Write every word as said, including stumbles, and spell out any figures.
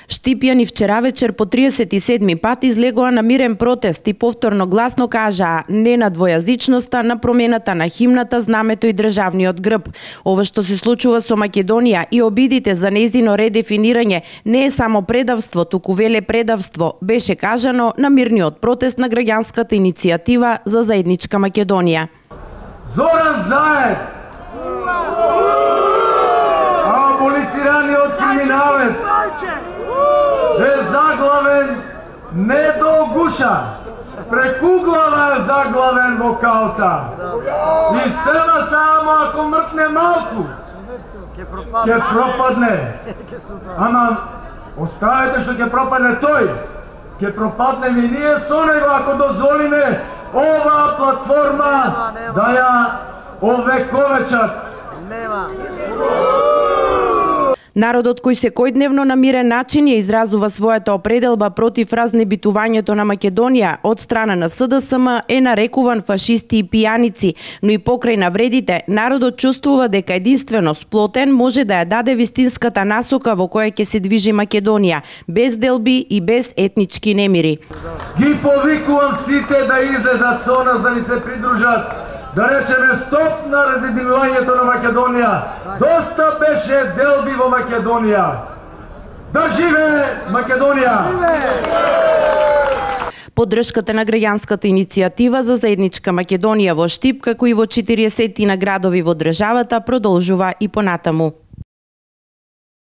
Штипјани вчера вечер по триесет и седми пат излегоа на мирен протест и повторно гласно кажаа не на двојазичноста, на промената на химната, знамето и државниот грб. Ова што се случува со Македонија и обидите за нејзино редефинирање не е само предавство, туку веле предавство, беше кажано на мирниот протест на граѓанската иницијатива за заедничка Македонија. Зоран Заев, аболицираниот криминалец, е заглавен не до гуша, преку глава е заглавен во калта. И сема само ако мртне малку, ќе пропадне. Ама оставете што ќе пропадне тој, ќе пропаднем и ние со него ако дозволиме ова платформа да ја овековечат. Народот кој секојдневно на мирен начин ја изразува својата определба против разнебитувањето на Македонија од страна на С Д С М е нарекуван фашисти и пијаници, но и покрај навредите, народот чувствува дека единствено сплотен може да ја даде вистинската насока во која ќе се движи Македонија, без делби и без етнички немири. Ги повикувам сите да излезат со нас, да ни се придружат, да речеме стоп на разединувањето на Македонија. Доста беше делби во Македонија. Да живее Македонија! Поддршката на граѓанската иницијатива за заедничка Македонија во Штип, како и во четириесет на градови во државата, продолжува и понатаму.